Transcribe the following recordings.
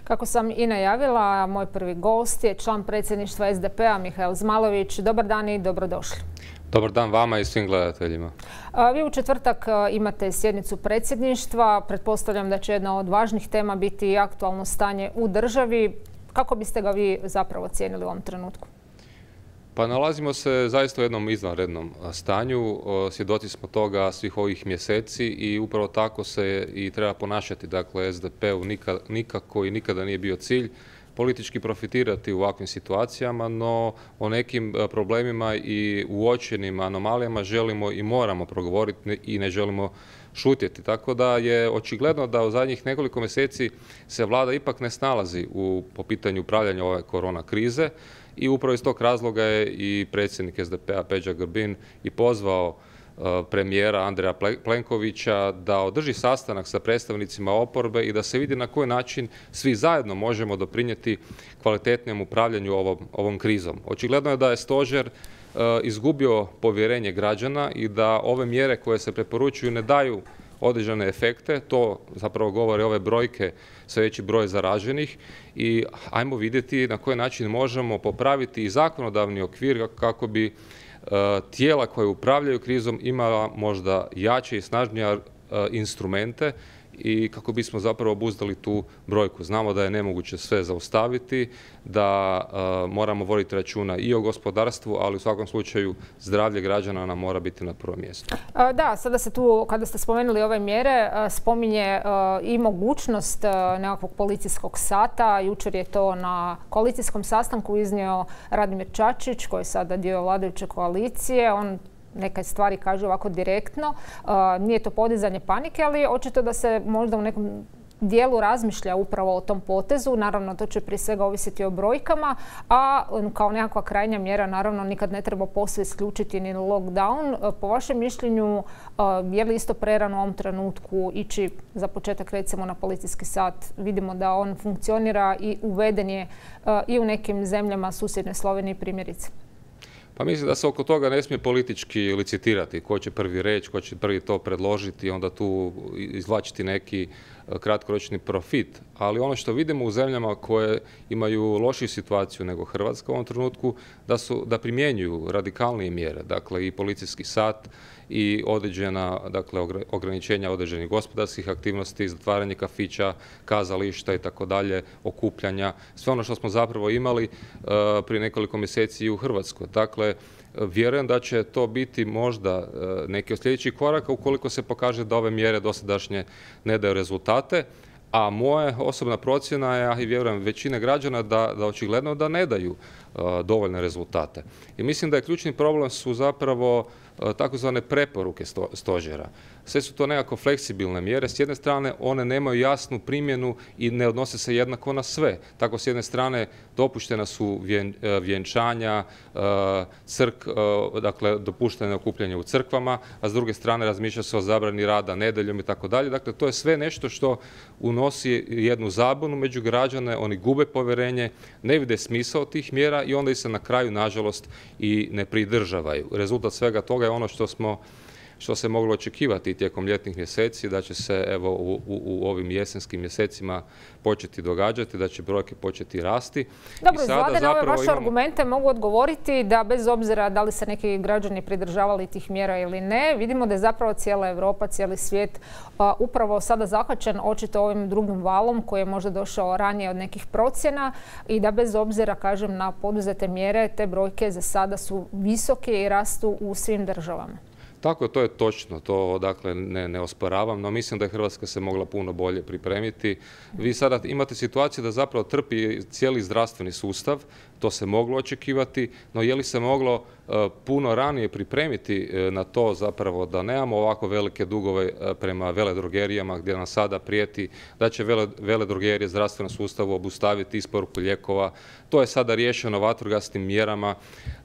Kako sam i najavila, moj prvi gost je član predsjedništva SDP-a Mihael Zmajlović. Dobar dan i dobrodošli. Dobar dan vama i svim gledateljima. Vi u četvrtak imate sjednicu predsjedništva. Pretpostavljam da će jedna od važnih tema biti aktualno stanje u državi. Kako biste ga vi zapravo ocijenili u ovom trenutku? Pa nalazimo se zaista u jednom izvanrednom stanju. Svjedoci smo toga svih ovih mjeseci i upravo tako se i treba ponašati. Dakle, SDP-u nikako i nikada nije bio cilj politički profitirati u ovakvim situacijama, no o nekim problemima i uočenim anomalijama želimo i moramo progovoriti i ne želimo šutjeti. Tako da je očigledno da u zadnjih nekoliko mjeseci se vlada ipak ne snalazi po pitanju upravljanja ove korona krize i upravo iz tog razloga je i predsjednik SDP-a Peđa Grbin i pozvao premijera Andreja Plenkovića da održi sastanak sa predstavnicima oporbe i da se vidi na koji način svi zajedno možemo doprinijeti kvalitetnijem upravljanju ovom krizom. Očigledno je da je stožer izgubio povjerenje građana i da ove mjere koje se preporučuju ne daju određene efekte. To zapravo govore ove brojke, sve veći broj zaraženih i ajmo vidjeti na koji način možemo popraviti i zakonodavni okvir kako bi tijela koje upravljaju krizom imala možda jače i snažnije instrumente i kako bismo zapravo obuzdali tu brojku. Znamo da je nemoguće sve zaustaviti, da moramo voditi računa i o gospodarstvu, ali u svakom slučaju zdravlje građana nam mora biti na prvom mjestu. Da, sada se tu, kada ste spomenuli ove mjere, spominje i mogućnost nekakvog policijskog sata. Jučer je to na koalicijskom sastanku iznio Radimir Čačić, koji je sada dio vladajuće koalicije. On neke stvari kaže ovako direktno. Nije to podizanje panike, ali očito da se možda u nekom dijelu razmišlja upravo o tom potezu. Naravno, to će prije svega ovisiti o brojkama, a kao nekakva krajnja mjera, naravno, nikad ne treba posve isključiti ni lockdown. Po vašem mišljenju, je li isto prerano u ovom trenutku ići za početak recimo na policijski sat? Vidimo da on funkcionira i uveden je i u nekim zemljama susjedne Slovenije primjerice. Pa mislim da se oko toga ne smije politički licitirati. Ko će prvi reći, ko će prvi to predložiti i onda tu izvlačiti neki kratkoročni profit. Ali ono što vidimo u zemljama koje imaju lošiju situaciju nego Hrvatska u ovom trenutku, da primjenjuju radikalnije mjere. Dakle, i policijski sat i određena, dakle, ograničenja određenih gospodarskih aktivnosti, zatvaranje kafića, kazališta i tako dalje, okupljanja. Sve ono što smo zapravo imali prije nekoliko mjeseci i u Hrvatskoj. Dakle, vjerujem da će to biti možda neki od sljedećih koraka ukoliko se pokaže da ove mjere dosadašnje ne daju rezultate. A moja osobna procjena je, a i vjerujem većine građana, da očigledno da ne daju dovoljne rezultate. I mislim da je ključni problem su zapravo takozvane preporuke stožera. Sve su to nekako fleksibilne mjere. S jedne strane, one nemaju jasnu primjenu i ne odnose se jednako na sve. Tako, s jedne strane, dopuštena su vjenčanja, dakle, dopušteno je okupljanje u crkvama, a s druge strane razmišlja se o zabrani rada nedjeljom i tako dalje. Dakle, to je sve nešto što unosi jednu zabunu među građane, oni gube povjerenje, ne vide smisao tih mjera i onda ih se na kraju, nažalost, i ne pridržavaju. Rezultat svega toga je ono što se moglo očekivati tijekom ljetnih mjeseci, da će se evo u ovim jesenskim mjesecima početi događati, da će brojke početi rasti. Dobro, iz Vlade na ove vaše argumente mogu odgovoriti da bez obzira da li se neki građani pridržavali tih mjera ili ne, vidimo da je zapravo cijela Europa, cijeli svijet upravo sada zahvaćen očito ovim drugim valom koji je možda došao ranije od nekih procjena i da bez obzira, kažem, na poduzete mjere, te brojke za sada su visoke i rastu u svim državama. Tako, to je točno, to dakle ne osporavam, no mislim da je Hrvatska se mogla puno bolje pripremiti. Vi sada imate situaciju da zapravo trpi cijeli zdravstveni sustav, to se moglo očekivati, no je li se moglo puno ranije pripremiti na to zapravo da nemamo ovako velike dugove prema veledrogerijama gdje nam sada prijeti da će veledrogerije zdravstvenom sustavu obustaviti isporuku lijekova. To je sada riješeno vatrogasnim mjerama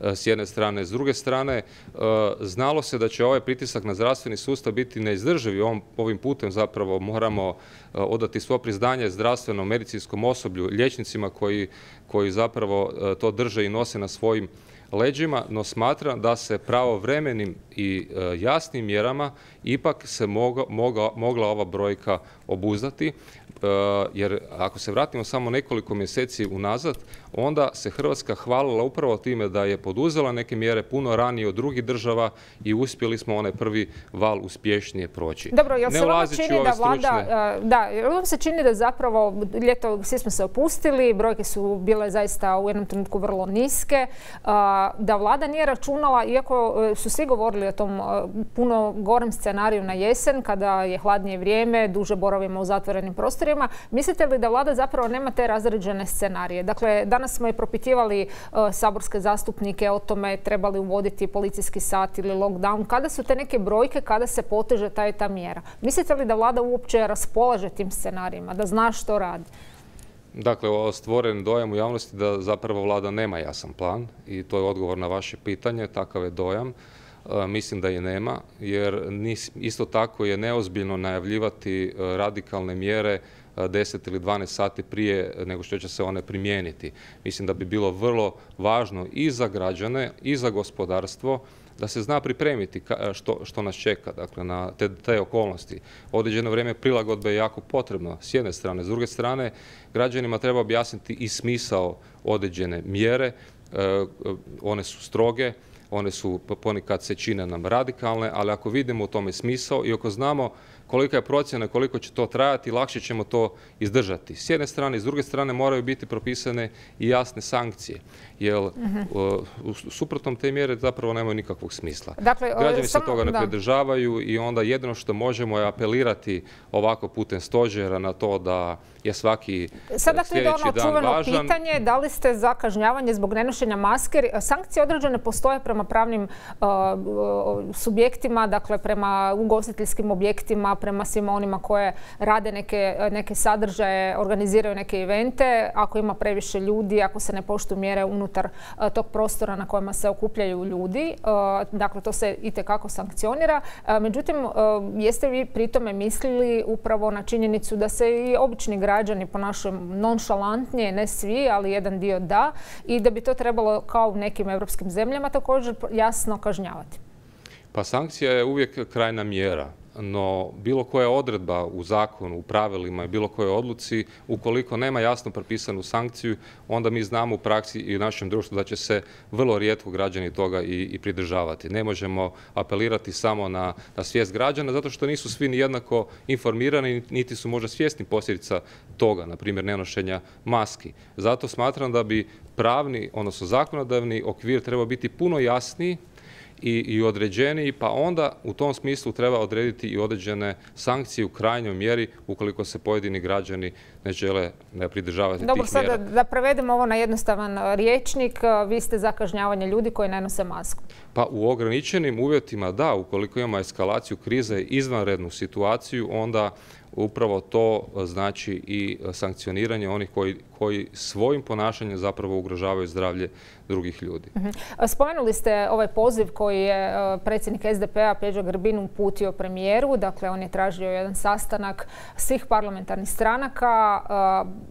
s jedne strane. S druge strane, znalo se da će ovaj pritisak na zdravstveni sustav biti neizdrživ i ovim putem zapravo moramo odati svo priznanje zdravstvenom medicinskom osoblju, liječnicima koji zapravo to drže i nose na svojim leđima, no smatram da se pravovremenim i jasnim mjerama ipak se mogla ova brojka obuzdati, jer ako se vratimo samo nekoliko mjeseci unazad, onda se Hrvatska hvalila upravo time da je poduzela neke mjere puno ranije od drugih država i uspjeli smo onaj prvi val uspješnije proći. Dobro, jel se vama čini da vlada, jel vam se čini da zapravo ljeto svi smo se opustili, brojke su bile zaista u jednom trenutku vrlo niske, da vlada nije računala, iako su svi govorili o tom puno gorem scenariju na jesen, kada je hladnije vrijeme, duže boravimo u zatvorenim prostorima, mislite li da vlada zapravo nema te razređene scenarije? Dakle, danas smo i propitivali saborske zastupnike o tome treba li uvoditi policijski sat ili lockdown. Kada su te neke brojke, kada se poteže ta mjera? Mislite li da vlada uopće raspolaže tim scenarijima, da zna što radi? Dakle, stvoren dojam u javnosti da zapravo vlada nema jasan plan i to je odgovor na vaše pitanje, takav je dojam. Mislim da je nema, jer isto tako je neozbiljno najavljivati radikalne mjere 10 ili 12 sati prije nego što će se one primijeniti. Mislim da bi bilo vrlo važno i za građane i za gospodarstvo da se zna pripremiti što nas čeka, dakle, na te okolnosti. Određeno vrijeme prilagodbe je jako potrebno s jedne strane. S druge strane, građanima treba objasniti i smisao određene mjere. One su stroge, one su ponekad se čine nam radikalne, ali ako vidimo u tome smisao i ako znamo kolika je procjena, koliko će to trajati, lakše ćemo to izdržati. S jedne strane i s druge strane moraju biti propisane i jasne sankcije, jer suprotnom te mjere zapravo nemaju nikakvog smisla. Dakle, građani se toga ne pridržavaju i onda jedino što možemo je apelirati ovako putem stožera na to da je svaki sljedeći dan važan. Pitanje, da li ste za kažnjavanje zbog nenošenja maske? Sankcije određene postoje prema pravnim subjektima, dakle prema ugostiteljskim objektima, prema svima onima koje rade neke sadržaje, organiziraju neke evente. Ako ima previše ljudi, ako se ne poštuju mjere unutar tog prostora na kojima se okupljaju ljudi, dakle to se itekako sankcionira. Međutim, jeste vi pri tome mislili upravo na činjenicu da se i obični građani ponašaju nonšalantnije, ne svi, ali jedan dio da, i da bi to trebalo kao u nekim europskim zemljama također jasno kažnjavati? Pa sankcija je uvijek krajna mjera. No bilo koja odredba u zakonu, u pravilima i bilo kojoj odluci, ukoliko nema jasno propisanu sankciju, onda mi znamo u praksi i u našem društvu da će se vrlo rijetko građani toga i pridržavati. Ne možemo apelirati samo na svijest građana, zato što nisu svi ni jednako informirani, niti su možda svjesni posljedica toga, na primjer nenošenja maski. Zato smatram da bi pravni, odnosno zakonodavni okvir treba biti puno jasniji i određeniji, pa onda u tom smislu treba odrediti i određene sankcije u krajnjoj mjeri ukoliko se pojedini građani ne žele pridržavati tih mjera. Dobro, sada da prevedemo ovo na jednostavan rječnik, vi ste za kažnjavanje ljudi koji ne nose masku. Pa u ograničenim uvjetima da, ukoliko imamo eskalaciju krize, izvanrednu situaciju, onda upravo to znači i sankcioniranje onih koji svojim ponašanjem zapravo ugrožavaju zdravlje drugih ljudi. Spomenuli ste ovaj poziv koji je predsjednik SDP-a Peđa Grbin uputio premijeru. Dakle, on je tražio jedan sastanak svih parlamentarnih stranaka.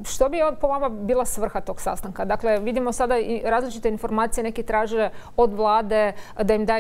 Što bi po vama bila svrha tog sastanka? Dakle, vidimo sada i različite informacije. Neki traže od vlade da im da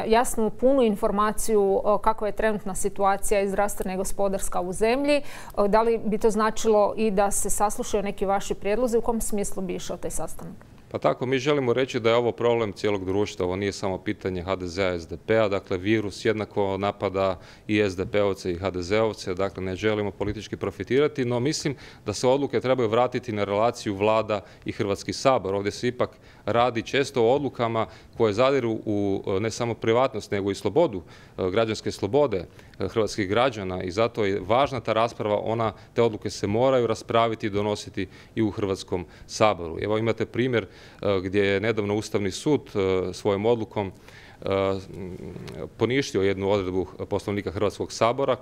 jasnu, punu informaciju kakva je trenutna situacija i zdravstvena i gospodarska u zemlji. Da li bi to značilo i da se saslušaju neki vaši prijedlozi? U kom smislu bi išao taj sastanak? Pa tako, mi želimo reći da je ovo problem cijelog društva. Ovo nije samo pitanje HDZ-a i SDP-a. Dakle, virus jednako napada i SDP-ovce i HDZ-ovce. Dakle, ne želimo politički profitirati, no mislim da se odluke trebaju vratiti na relaciju vlada i Hrvatski sabor. Ovdje se ipak radi često o odlukama koje zadiru u ne samo privatnost, nego i slobodu, građanske slobode hrvatskih građana i zato je važna ta rasprava. Te odluke se moraju raspraviti i donositi i u Hrvatskom saboru. Evo imate primjer gdje je nedavno Ustavni sud svojom odlukom poništio jednu odredbu Poslovnika Hrvatskog sabora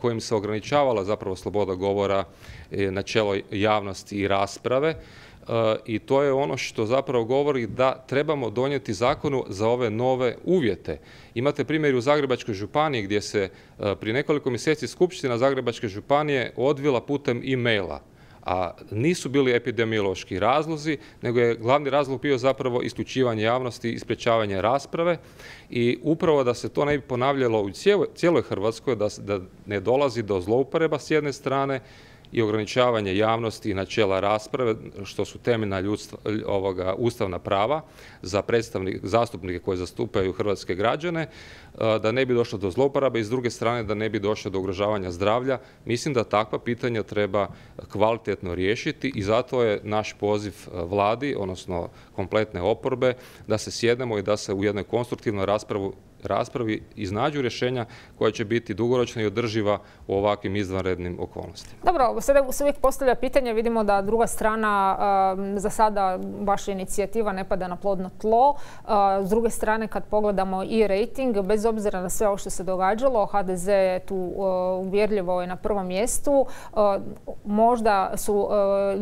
kojim se ograničavala zapravo sloboda govora, načelo javnosti i rasprave. I to je ono što zapravo govori da trebamo donijeti zakonu za ove nove uvjete. Imate primjer u Zagrebačkoj županiji gdje se prije nekoliko mjeseci Skupština Zagrebačke županije odvila putem e-maila. A nisu bili epidemiološki razlozi, nego je glavni razlog bio zapravo isključivanje javnosti i sprječavanje rasprave i upravo da se to ne bi ponavljalo u cijeloj Hrvatskoj, da ne dolazi do zloupotreba s jedne strane i ograničavanje javnosti i načela rasprave, što su temeljna ustavna prava za zastupnike koji zastupaju hrvatske građane, da ne bi došlo do zlouporabe i s druge strane da ne bi došlo do ugrožavanja zdravlja. Mislim da takva pitanja treba kvalitetno riješiti i zato je naš poziv vladi, odnosno kompletne oporbe, da se sjednemo i da se u jednoj konstruktivnoj raspravi iznađu rješenja koja će biti dugoročna i održiva u ovakvim izvanrednim okolnostima. Dobro, sada se uvijek postavlja pitanje, vidimo da druga strana, za sada vaša inicijativa ne pada na plodno tlo. S druge strane, kad pogledamo i rejting, bez obzira na sve ovo što se događalo, HDZ je tu uvjerljivo na prvom mjestu. Možda su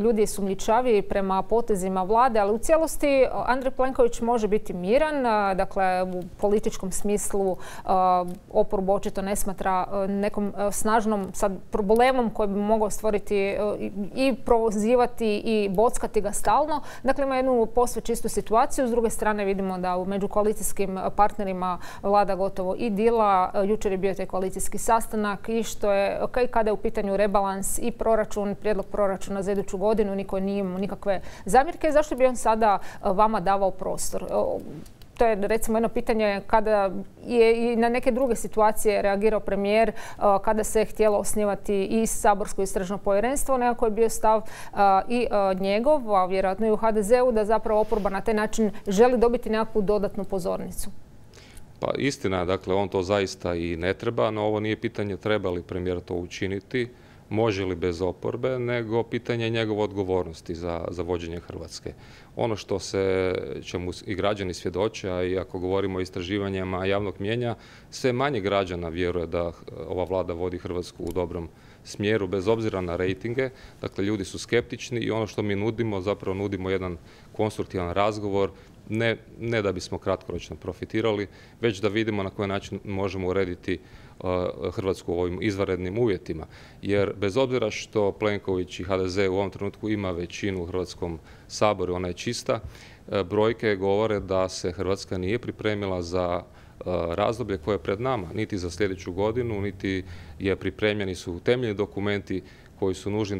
ljudi sumnjičavi prema potezima vlade, ali u cijelosti Andrej Plenković može biti miran, dakle u političkom smislu oporbu očito ne smatra nekom snažnom sad problemom koji bi mogao stvoriti i provozivati i bockati ga stalno. Dakle, ima jednu posve čistu situaciju. S druge strane vidimo da među koalicijskim partnerima vlada gotovo i dila. Jučer je bio taj koalicijski sastanak i što je, kada je u pitanju rebalans i proračun, prijedlog proračuna za iduću godinu, niko nije imao nikakve zamjerke. Zašto bi on sada vama davao prostor? To je recimo jedno pitanje kada je i na neke druge situacije reagirao premijer, kada se je htjelo osnivati i saborsko istražno povjerenstvo, nekako je bio stav i njegov, a vjerojatno i u HDZ-u, da zapravo oporba na taj način želi dobiti nekakvu dodatnu pozornicu. Pa istina, dakle, on to zaista i ne treba, no ovo nije pitanje treba li premijer to učiniti, može li bez oporbe, nego pitanje njegove odgovornosti za vođenje Hrvatske. Ono što čemu i građani svjedoče, a i ako govorimo o istraživanjima javnog mnijenja, sve manje građana vjeruje da ova vlada vodi Hrvatsku u dobrom smjeru, bez obzira na rejtinge. Dakle, ljudi su skeptični i ono što mi nudimo, zapravo nudimo jedan konstruktivan razgovor, ne da bismo kratkoročno profitirali, već da vidimo na koji način možemo urediti Hrvatsku u ovim izvanrednim uvjetima. Jer bez obzira što Plenković i HDZ u ovom trenutku ima većinu u Hrvatskom saboru, ona je čista, brojke govore da se Hrvatska nije pripremila za razdoblje koje je pred nama, niti za sljedeću godinu, niti je pripremljeni su temeljni dokumenti koji su nužni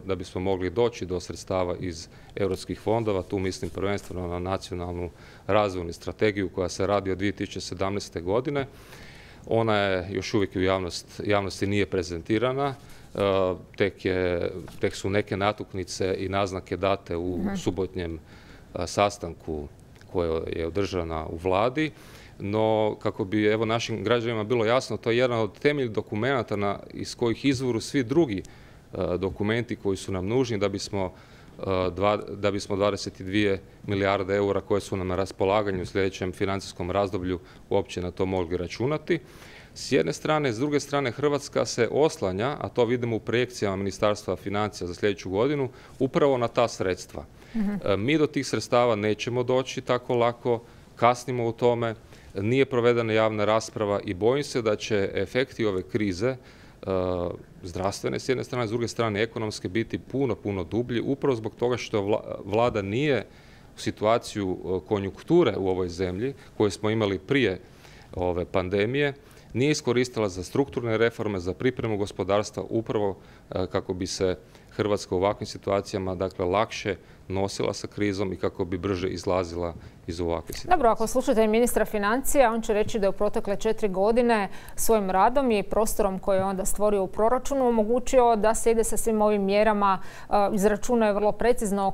da bismo mogli doći do sredstava iz europskih fondova. Tu mislim prvenstveno na nacionalnu razvojnu strategiju koja se radi od 2017. godine. Ona je još uvijek u javnosti nije prezentirana. Tek su neke natuknice i naznake date u subotnjem sastanku koja je održana u vladi. No, kako bi našim građanima bilo jasno, to je jedan od temeljnih dokumenata iz kojih izvoru svi drugi dokumenti koji su nam nužni da bismo 22 milijarde eura koje su nam na raspolaganju u sljedećem financijskom razdoblju uopće na to mogli računati. S jedne strane, s druge strane Hrvatska se oslanja, a to vidimo u projekcijama Ministarstva financija za sljedeću godinu, upravo na ta sredstva. Mi do tih sredstava nećemo doći tako lako, kasnimo u tome, nije provedena javna rasprava i bojim se da će efekti ove krize zdravstvene s jedne strane, s druge strane ekonomske biti puno dublji, upravo zbog toga što vlada nije u situaciju konjunkture u ovoj zemlji koju smo imali prije ove pandemije, nije iskoristila za strukturne reforme, za pripremu gospodarstva, upravo kako bi se Hrvatska u ovakvim situacijama lakše nosila sa krizom i kako bi brže izlazila iz ovakve situacije. Dobro, ako slušate ministra financija, on će reći da je u protekle 4 godine svojim radom i prostorom koji je onda stvorio u proračunu omogućio da se ide sa svim ovim mjerama, izračunao je vrlo precizno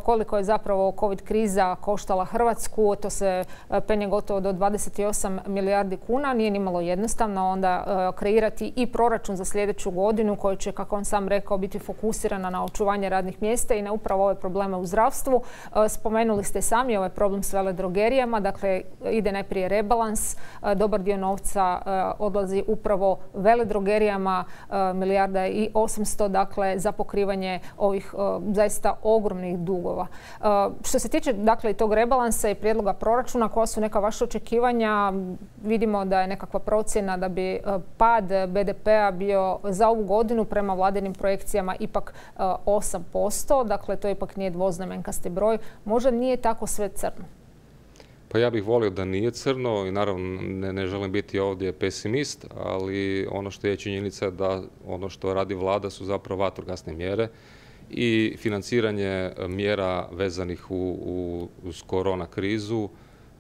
koliko je zapravo COVID kriza koštala Hrvatsku. To se penje gotovo do 28 milijardi kuna. Nije nimalo jednostavno onda kreirati i proračun za sljedeću godinu koji će, kako on sam rekao, biti fokusirana na očuvanje radnih mjesta i na upravo upravo ove probleme u zdravstvu. Spomenuli ste sami ovaj problem s veledrogerijama, dakle ide najprije rebalans, dobar dio novca odlazi upravo veledrogerijama, 1,8 milijarda dakle za pokrivanje ovih zaista ogromnih dugova. Što se tiče dakle tog rebalansa i prijedloga proračuna, koja su neka vaša očekivanja? Vidimo da je nekakva procjena da bi pad BDP-a bio za ovu godinu prema vladinim projekcijama ipak 8%, dakle to ipak nije dvoznamenkasti broj. Možda nije tako sve crno? Pa ja bih volio da nije crno i naravno ne želim biti ovdje pesimist, ali ono što je činjenica je da ono što radi vlada su zapravo vatrogasne mjere i financiranje mjera vezanih uz korona krizu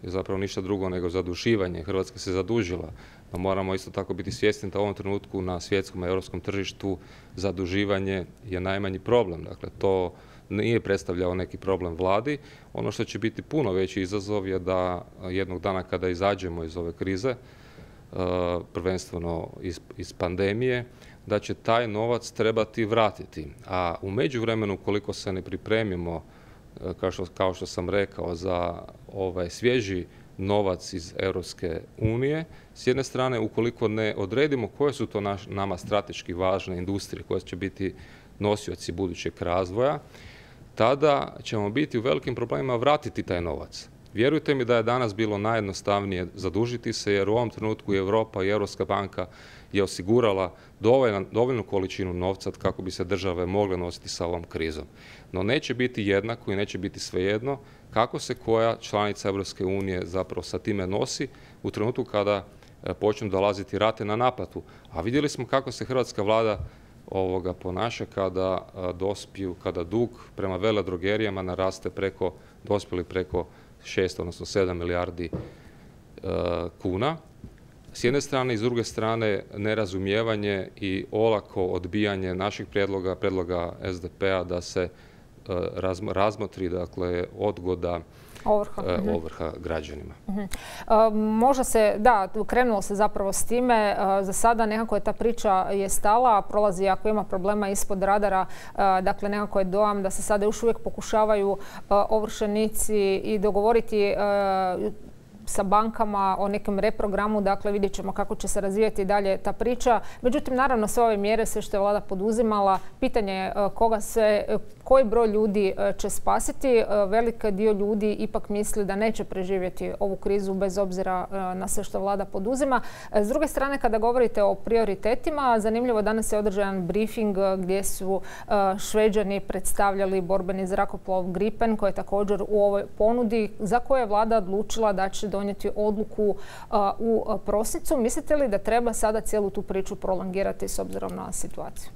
je zapravo ništa drugo nego zaduživanje. Hrvatska se zadužila, no moramo isto tako biti svjesni da u ovom trenutku na svjetskom i europskom tržištu zaduživanje je najmanji problem. Dakle, to nije predstavljao neki problem vladi. Ono što će biti puno veći izazov je da jednog dana kada izađemo iz ove krize, prvenstveno iz pandemije, da će taj novac trebati vratiti. A u međuvremenu, koliko se ne pripremimo, kao što sam rekao, za ovaj svježi novac iz Europske unije, s jedne strane, ukoliko ne odredimo koje su to nama strateški važne industrije koje će biti nosioci budućeg razvoja, tada ćemo biti u velikim problemima vratiti taj novac. Vjerujte mi da je danas bilo najjednostavnije zadužiti se, jer u ovom trenutku i Europa i Europska banka je osigurala dovoljnu količinu novca kako bi se države mogle nositi sa ovom krizom. No neće biti jednako i neće biti svejedno kako se koja članica Europske unije zapravo sa time nosi u trenutku kada počnu dolaziti rate na naplatu. A vidjeli smo kako se hrvatska vlada ponaša kada dug prema veledrogerijama naraste dospjeli preko 6, odnosno 7 milijardi kuna. S jedne strane i s druge strane nerazumijevanje i olako odbijanje naših prijedloga SDP-a da se razmotri, dakle, odgoda ovrha građanima. Možda se, da, krenulo se zapravo s time. Za sada nekako je ta priča je stala, prolazi ako ima problema ispod radara. Dakle, nekako je dojam da se sada još uvijek pokušavaju ovršenici i dogovoriti sa bankama o nekom reprogramu, dakle vidjet ćemo kako će se razvijati dalje ta priča. Međutim, naravno sve ove mjere, sve što je vlada poduzimala, pitanje je koji broj ljudi će spasiti. Velik dio ljudi ipak misli da neće preživjeti ovu krizu bez obzira na sve što vlada poduzima. S druge strane, kada govorite o prioritetima, zanimljivo, danas je održan briefing gdje su Šveđani predstavljali borbeni zrakoplov Gripen, koji je također u ovoj ponudi, za koje je vlada odlučila da će donijeti odluku u prosincu. Mislite li da treba sada cijelu tu priču prolongirati s obzirom na situaciju?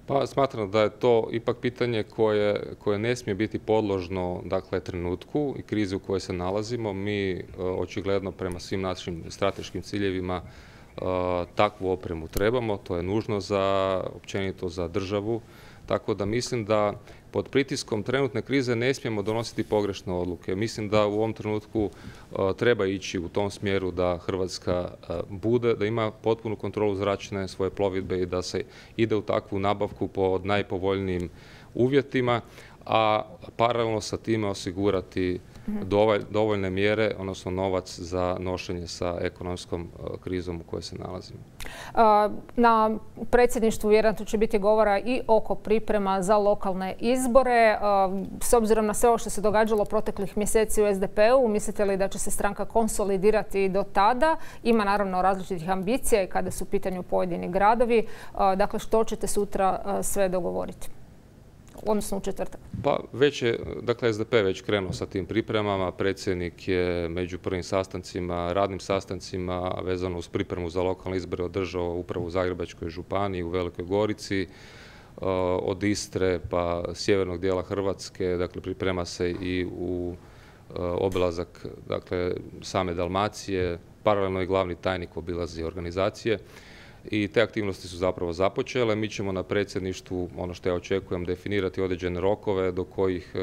Pa smatram da je to ipak pitanje koje ne smije biti podložno, dakle, trenutku i krizi u kojoj se nalazimo. Mi očigledno prema svim našim strateškim ciljevima takvu opremu trebamo. To je nužno općenito za državu. Tako da mislim da pod pritiskom trenutne krize ne smijemo donositi pogrešne odluke. Mislim da u ovom trenutku treba ići u tom smjeru da Hrvatska da ima potpunu kontrolu zračne svoje plovidbe i da se ide u takvu nabavku pod najpovoljnijim uvjetima, a paralelno sa time osigurati dovoljne mjere, odnosno novac za nošenje sa ekonomskom krizom u kojoj se nalazimo. Na predsjedništvu vjerojatno će biti govora i oko priprema za lokalne izbore. S obzirom na sve ovo što se događalo proteklih mjeseci u SDP-u, mislite li da će se stranka konsolidirati do tada? Ima naravno različitih ambicija i kada su u pitanju pojedini gradovi. Dakle, što ćete sutra sve dogovoriti? Odnosno u četvrtak. Pa dakle, SDP je već krenuo sa tim pripremama. Predsjednik je među prvim radnim sastancima vezano uz pripremu za lokalne izbore održao upravo u Zagrebačkoj županiji, u Velikoj Gorici, od Istre pa sjevernog dijela Hrvatske. Dakle, priprema se i u obilazak, dakle, same Dalmacije. Paralelno i glavni tajnik obilazi organizacije. I te aktivnosti su zapravo započele. Mi ćemo na predsjedništvu, ono što ja očekujem, definirati određene rokove do kojih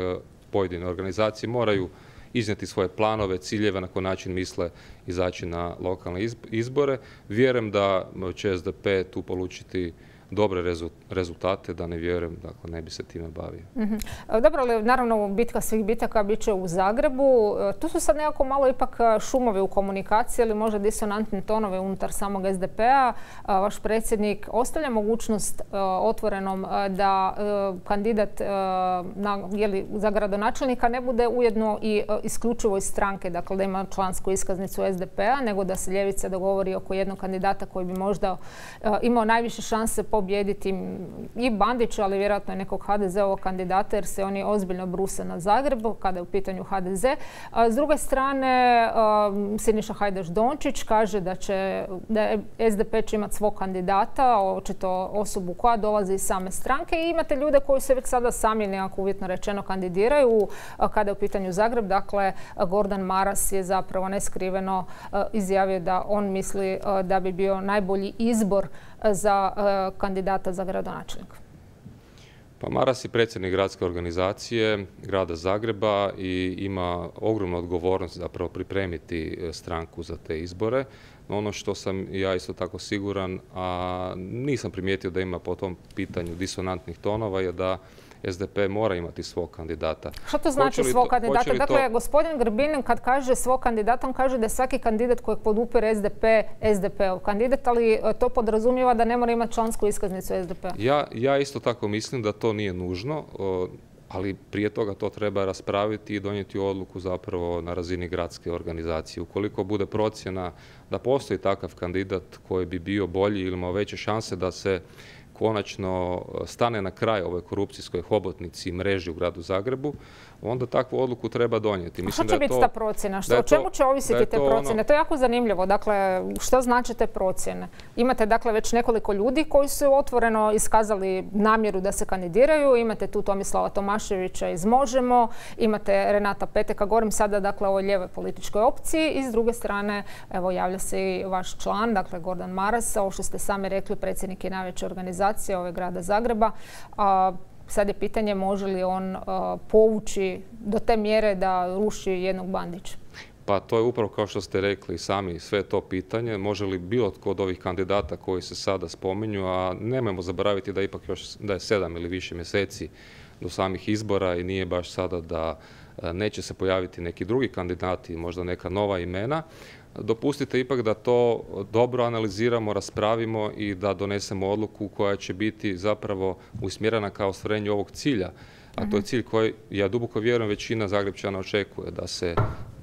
pojedine organizacije moraju iznijeti svoje planove, ciljeve, na koji način misle izaći na lokalne izbore. Vjerujem da će SDP tu polučiti dobre rezultate, da ne vjerujem, dakle ne bi se time bavio. Dobro, ali naravno bitka svih bitaka bit će u Zagrebu. Tu su sad nekako malo ipak šumovi u komunikaciji ili možda disonantni tonovi unutar samog SDP-a. Vaš predsjednik ostavlja mogućnost otvorenom da kandidat za gradonačelnika ne bude ujedno i isključivo iz stranke, dakle da ima člansku iskaznicu SDP-a, nego da se ljevica dogovori oko jednog kandidata koji bi možda imao najviše šanse pobijediti i Bandića, ali vjerojatno i nekog HDZ-ovog kandidata, jer se oni ozbiljno bruse na Zagrebu kada je u pitanju HDZ. S druge strane, Siniša Hajdaš Dončić kaže da SDP će imati svog kandidata, očito osobu koja dolazi iz same stranke, i imate ljude koji se već sada sami nekako uvjetno rečeno kandidiraju kada je u pitanju Zagreb. Dakle, Gordan Maras je zapravo neskriveno izjavio da on misli da bi bio najbolji izbor za kandidata za gradonačelnika. Pa Maras je predsjednik gradske organizacije grada Zagreba i ima ogromnu odgovornost zapravo pripremiti stranku za te izbore. No, ono što sam ja isto tako siguran, a nisam primijetio da ima po tom pitanju disonantnih tonova, je da SDP mora imati svog kandidata. Što to znači svog kandidata? Dakle, gospodin Grbin kad kaže svog kandidata, on kaže da je svaki kandidat kojeg podupire SDP, SDP-ov kandidat, ali to podrazumijeva da ne mora imati člansku iskaznicu SDP-a. Ja isto tako mislim da to nije nužno, ali prije toga to treba raspraviti i donijeti odluku zapravo na razini gradske organizacije. Ukoliko bude procjena da postoji takav kandidat koji bi bio bolji ili imao veće šanse da se konačno stane na kraj ovoj korupcijskoj hobotnici i mreži u gradu Zagrebu, onda takvu odluku treba donijeti. Što će biti ta procjena? O čemu će ovisiti te procjene? To je jako zanimljivo. Dakle, što znači te procjene? Imate dakle već nekoliko ljudi koji su otvoreno iskazali namjeru da se kandidiraju. Imate tu Tomislava Tomaševića iz Možemo, imate Renata Peteka, govorim sada dakle o ovoj lijevoj političkoj opciji, i s druge strane evo javlja se i vaš član, dakle Gordan Maras, ovo što ste sami rekli, predsjednik je najveće organizacije ove grada Zagreba. Sad je pitanje može li on povući do te mjere da ruši jednog Bandića. Pa to je upravo kao što ste rekli sami sve to pitanje. Može li bilo tko od ovih kandidata koji se sada spominju, a nemojmo zaboraviti da ipak još da je 7 ili više mjeseci do samih izbora i nije baš sada da neće se pojaviti neki drugi kandidati, možda neka nova imena. Dopustite ipak da to dobro analiziramo, raspravimo i da donesemo odluku koja će biti zapravo usmjerena ka ostvarenju ovog cilja. A to je cilj koji, ja duboko vjerujem, većina Zagrepčana očekuje, da se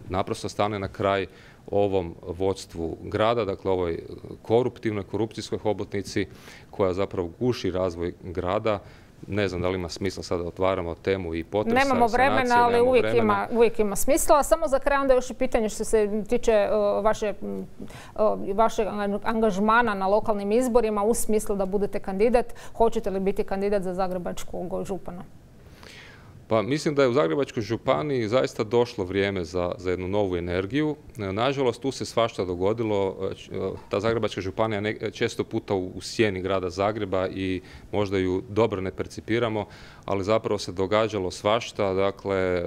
naprosto stane na kraj ovom vodstvu grada, dakle ovoj koruptivnoj, korupcijskoj hobotnici koja zapravo guši razvoj grada. Ne znam da li ima smisla sada otvaramo temu i potresa, nemamo vremena, ali uvijek ima smisla. Samo za kraj onda još i pitanje što se tiče vašeg angažmana na lokalnim izborima u smislu da budete kandidat. Hoćete li biti kandidat za zagrebačkog župana? Pa mislim da je u Zagrebačkoj županiji zaista došlo vrijeme za jednu novu energiju. Nažalost, tu se svašta dogodilo. Ta Zagrebačka županija često puta u sjeni grada Zagreba i možda ju dobro ne percipiramo, ali zapravo se događalo svašta. Dakle,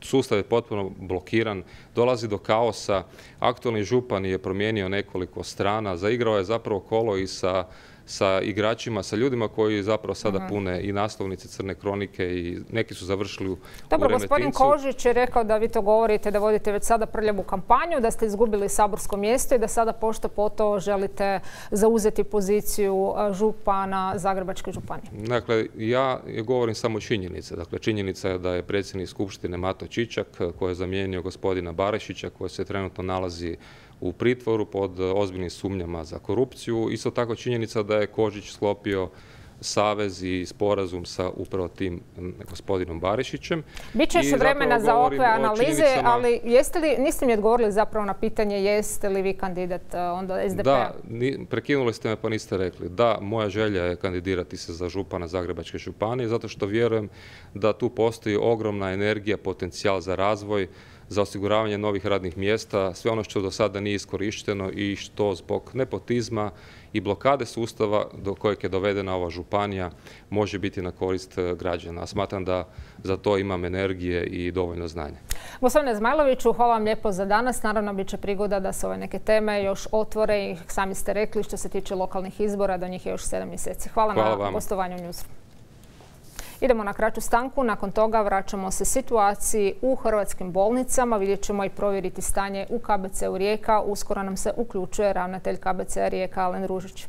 sustav je potpuno blokiran, dolazi do kaosa. Aktualni župan je promijenio nekoliko strana, zaigrao je zapravo kolo i sa igračima, sa ljudima koji zapravo sada pune i naslovnice Crne kronike i neki su završili u Remetincu. Dobro, gospodin Kožić je rekao da vi to govorite, da vodite već sada prljavu kampanju, da ste izgubili saborsko mjesto i da sada pošto poto želite zauzeti poziciju župana Zagrebačke županije. Dakle, ja govorim samo činjenice. Dakle, činjenica je da je predsjednik Skupštine Mato Čičak koji je zamijenio gospodina Barišića koji se trenutno nalazi u pritvoru pod ozbiljnim sumnjama za korupciju. Isto tako činjenica da je Kožić sklopio savez i sporazum sa upravo tim gospodinom Barišićem. Biće još vremena za ovakve analize, ali niste mi odgovorili zapravo na pitanje jeste li vi kandidat onda SDP-a? Da, prekinuli ste me pa niste rekli. Da, moja želja je kandidirati se za župana Zagrebačke županije zato što vjerujem da tu postoji ogromna energija, potencijal za razvoj, za osiguravanje novih radnih mjesta, sve ono što do sada nije iskorišteno i što zbog nepotizma i blokade sustava do kojeg je dovedena ova županija može biti na korist građana. Smatram da za to imam energije i dovoljno znanja. Gospodine Zmajloviću, hvala vam lijepo za danas. Naravno, bit će prigoda da se ove neke teme još otvore i sami ste rekli što se tiče lokalnih izbora, do njih je još 7 mjeseci. Hvala na gostovanju u Newsroomu. Idemo na kraću stanku, nakon toga vraćamo se situaciji u hrvatskim bolnicama, vidjet ćemo i provjeriti stanje u KBC-u Rijeka. Uskoro nam se uključuje ravnatelj KBC-a Rijeka Alen Ružić.